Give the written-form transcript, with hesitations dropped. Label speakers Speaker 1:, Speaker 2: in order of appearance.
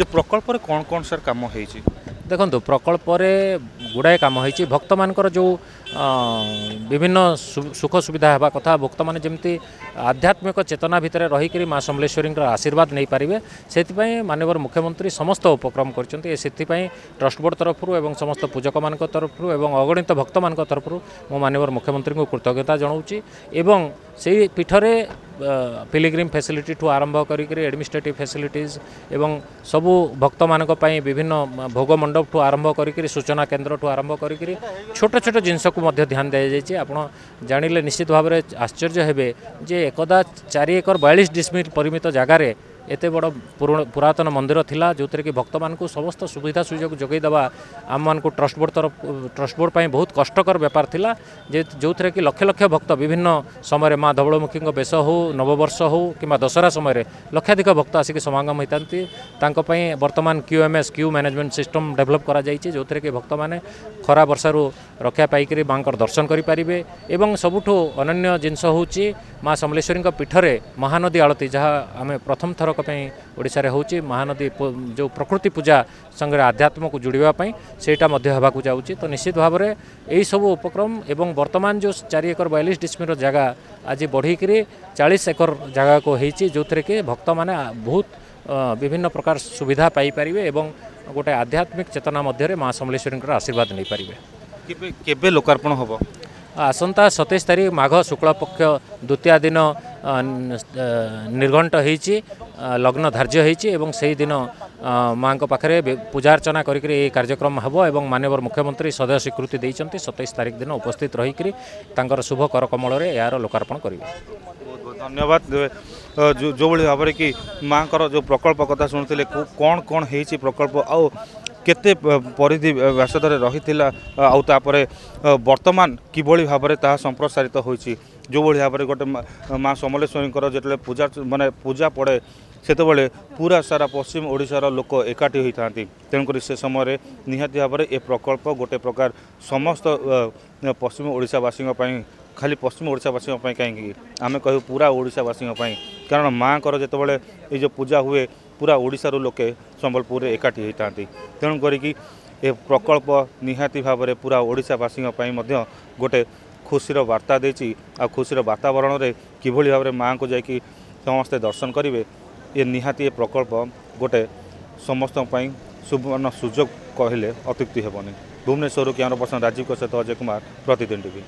Speaker 1: ଯେ ପ୍ରକଳ୍ପରେ କ'ଣ କ'ଣ ସାର୍ କାମ ହେଇଛି?
Speaker 2: ଦେଖନ୍ତୁ, ପ୍ରକଳ୍ପରେ ଗୁଡ଼ାଏ କାମ ହେଇଛି। ଭକ୍ତମାନଙ୍କର ଯେଉଁ ବିଭିନ୍ନ ସୁଖ ସୁବିଧା ହେବା କଥା, ଭକ୍ତମାନେ ଯେମିତି ଆଧ୍ୟାତ୍ମିକ ଚେତନା ଭିତରେ ରହିକରି ମା ସମଲେଶ୍ୱରୀଙ୍କର ଆଶୀର୍ବାଦ ନେଇପାରିବେ, ସେଥିପାଇଁ ମାନ୍ୟବର ମୁଖ୍ୟମନ୍ତ୍ରୀ ସମସ୍ତ ଉପକ୍ରମ କରିଛନ୍ତି। ସେଥିପାଇଁ ଟ୍ରଷ୍ଟ ବୋର୍ଡ଼ ତରଫରୁ ଏବଂ ସମସ୍ତ ପୂଜକମାନଙ୍କ ତରଫରୁ ଏବଂ ଅଗଣିତ ଭକ୍ତମାନଙ୍କ ତରଫରୁ ମୁଁ ମାନ୍ୟବର ମୁଖ୍ୟମନ୍ତ୍ରୀଙ୍କୁ କୃତଜ୍ଞତା ଜଣାଉଛି। ଏବଂ ସେଇ ପୀଠରେ ପିଲିଗ୍ରିମ୍ ଫ୍ୟାସିଲିଟିଠୁ ଆରମ୍ଭ କରିକିରି ଆଡ଼ମିନିଷ୍ଟ୍ରେଟିଭ୍ ଫ୍ୟାସିଲିଟିଜ୍ ଏବଂ ସବୁ ଭକ୍ତମାନଙ୍କ ପାଇଁ ବିଭିନ୍ନ ଭୋଗ ମଣ୍ଡପଠୁ ଆରମ୍ଭ କରିକିରି ସୂଚନା କେନ୍ଦ୍ରଠୁ ଆରମ୍ଭ କରିକିରି ଛୋଟ ଛୋଟ ଜିନିଷକୁ ମଧ୍ୟ ଧ୍ୟାନ ଦିଆଯାଇଛି। ଆପଣ ଜାଣିଲେ ନିଶ୍ଚିତ ଭାବରେ ଆଶ୍ଚର୍ଯ୍ୟ ହେବେ ଯେ ଏକଦା 4 ଏକର 42 ଡିସମିଲ୍ ପରିମିତ ଜାଗାରେ ଏତେ ବଡ଼ ପୁରାତନ ମନ୍ଦିର ଥିଲା, ଯେଉଁଥିରେ କି ଭକ୍ତମାନଙ୍କୁ ସମସ୍ତ ସୁବିଧା ସୁଯୋଗ ଯୋଗାଇ ଦେବା ଆମମାନଙ୍କୁ ଟ୍ରଷ୍ଟ ବୋର୍ଡ଼ ତରଫ ଟ୍ରଷ୍ଟ ବୋର୍ଡ଼ ପାଇଁ ବହୁତ କଷ୍ଟକର ବେପାର ଥିଲା, ଯେ ଯେଉଁଥିରେ କି ଲକ୍ଷ ଲକ୍ଷ ଭକ୍ତ ବିଭିନ୍ନ ସମୟରେ ମା ଧବଳମୁଖୀଙ୍କ ବେଶ ହେଉ, ନବବର୍ଷ ହେଉ କିମ୍ବା ଦଶହରା ସମୟରେ ଲକ୍ଷାଧିକ ଭକ୍ତ ଆସିକି ସମାଗମ ହୋଇଥାନ୍ତି। ତାଙ୍କ ପାଇଁ ବର୍ତ୍ତମାନ QMS, queue management system develop କରାଯାଇଛି, ଯେଉଁଥିରେ କି ଭକ୍ତମାନେ ଖରା ବର୍ଷାରୁ ରକ୍ଷା ପାଇକରି ମାଆଙ୍କର ଦର୍ଶନ କରିପାରିବେ। ଏବଂ ସବୁଠୁ ଅନନ୍ୟ ଜିନିଷ ହେଉଛି ମା ସମଲେଶ୍ୱରୀଙ୍କ ପୀଠରେ ମହାନଦୀ ଆଳତୀ, ଯାହା ଆମେ ପ୍ରଥମ ଥରକ ପାଇଁ ଓଡ଼ିଶାରେ ହେଉଛି। ମହାନଦୀ ଯେଉଁ ପ୍ରକୃତି ପୂଜା ସାଙ୍ଗରେ ଆଧ୍ୟାତ୍ମକୁ ଯୋଡ଼ିବା ପାଇଁ ସେଇଟା ମଧ୍ୟ ହେବାକୁ ଯାଉଛି। ତ ନିଶ୍ଚିତ ଭାବରେ ଏହିସବୁ ଉପକ୍ରମ ଏବଂ ବର୍ତ୍ତମାନ ଯେଉଁ 4 ଏକର 42 ଡିସମିଲର ଜାଗା ଆଜି ବଢ଼ିକିରି 40 ଏକର ଜାଗାକୁ ହେଇଛି, ଯେଉଁଥିରେ କି ଭକ୍ତମାନେ ବହୁତ ବିଭିନ୍ନ ପ୍ରକାର ସୁବିଧା ପାଇପାରିବେ ଏବଂ ଗୋଟେ ଆଧ୍ୟାତ୍ମିକ ଚେତନା ମଧ୍ୟରେ ମା ସମଲେଶ୍ୱରୀଙ୍କର ଆଶୀର୍ବାଦ ନେଇପାରିବେ।
Speaker 1: କେବେ କେବେ ଲୋକାର୍ପଣ ହେବ?
Speaker 2: ଆସନ୍ତା 27 ତାରିଖ ମାଘ ଶୁକ୍ଳପକ୍ଷ ଦ୍ୱିତୀୟ ଦିନ ନିର୍ଘଣ୍ଟ ହେଇଛି, ଲଗ୍ନ ଧାର୍ଯ୍ୟ ହେଇଛି ଏବଂ ସେହି ଦିନ ମାଆଙ୍କ ପାଖରେ ପୂଜାର୍ଚ୍ଚନା କରିକିରି ଏହି କାର୍ଯ୍ୟକ୍ରମ ହେବ ଏବଂ ମାନ୍ୟବର ମୁଖ୍ୟମନ୍ତ୍ରୀ ସଦୟ ସ୍ୱୀକୃତି ଦେଇଛନ୍ତି, 27 ତାରିଖ ଦିନ ଉପସ୍ଥିତ ରହିକରି ତାଙ୍କର ଶୁଭ କରକମଳରେ ଏହାର ଲୋକାର୍ପଣ କରିବେ।
Speaker 1: ବହୁତ ବହୁତ ଧନ୍ୟବାଦ। ଯେଉଁଭଳି ଭାବରେ କି ମାଆଙ୍କର ଯେଉଁ ପ୍ରକଳ୍ପ କଥା ଶୁଣୁଥିଲେ, କ'ଣ କ'ଣ ହେଇଛି ପ୍ରକଳ୍ପ ଆଉ କେତେ ପରିଧି ବ୍ୟାସରେ ରହିଥିଲା ଆଉ ତାପରେ ବର୍ତ୍ତମାନ କିଭଳି ଭାବରେ ତାହା ସମ୍ପ୍ରସାରିତ ହୋଇଛି। ଯେଉଁଭଳି ଭାବରେ ଗୋଟେ ମା ସମଲେଶ୍ୱରୀଙ୍କର ଯେତେବେଳେ ପୂଜା ମାନେ ପୂଜା ପଡ଼େ, ସେତେବେଳେ ପୁରା ସାରା ପଶ୍ଚିମ ଓଡ଼ିଶାର ଲୋକ ଏକାଠି ହୋଇଥାନ୍ତି। ତେଣୁକରି ସେ ସମୟରେ ନିହାତି ଭାବରେ ଏ ପ୍ରକଳ୍ପ ଗୋଟେ ପ୍ରକାର ସମସ୍ତ ପଶ୍ଚିମ ଓଡ଼ିଶାବାସୀଙ୍କ ପାଇଁ, ଖାଲି ପଶ୍ଚିମ ଓଡ଼ିଶାବାସୀଙ୍କ ପାଇଁ କାହିଁକି, ଆମେ କହିବୁ ପୁରା ଓଡ଼ିଶାବାସୀଙ୍କ ପାଇଁ। କାରଣ ମାଆଙ୍କର ଯେତେବେଳେ ଏଇ ଯେଉଁ ପୂଜା ହୁଏ, ପୁରା ଓଡ଼ିଶାରୁ ଲୋକେ ସମ୍ବଲପୁରରେ ଏକାଠି ହୋଇଥାନ୍ତି। ତେଣୁ କରିକି ଏ ପ୍ରକଳ୍ପ ନିହାତି ଭାବରେ ପୁରା ଓଡ଼ିଶାବାସୀଙ୍କ ପାଇଁ ମଧ୍ୟ ଗୋଟେ ଖୁସିର ବାର୍ତ୍ତା ଦେଇଛି। ଆଉ ଖୁସିର ବାତାବରଣରେ କିଭଳି ଭାବରେ ମାଆଙ୍କୁ ଯାଇକି ସମସ୍ତେ ଦର୍ଶନ କରିବେ, ଏ ନିହାତି ଏ ପ୍ରକଳ୍ପ ଗୋଟେ ସମସ୍ତଙ୍କ ପାଇଁ ସୁବର୍ଣ୍ଣ ସୁଯୋଗ କହିଲେ ଅତ୍ୟୁକ୍ତି ହେବନି। ଭୁବନେଶ୍ୱରରୁ କ୍ୟାମେରା ପର୍ସନ ରାଜୀବଙ୍କ ସହିତ ଅଜୟ କୁମାର, ପ୍ରତିଦିନ ଟିଭି।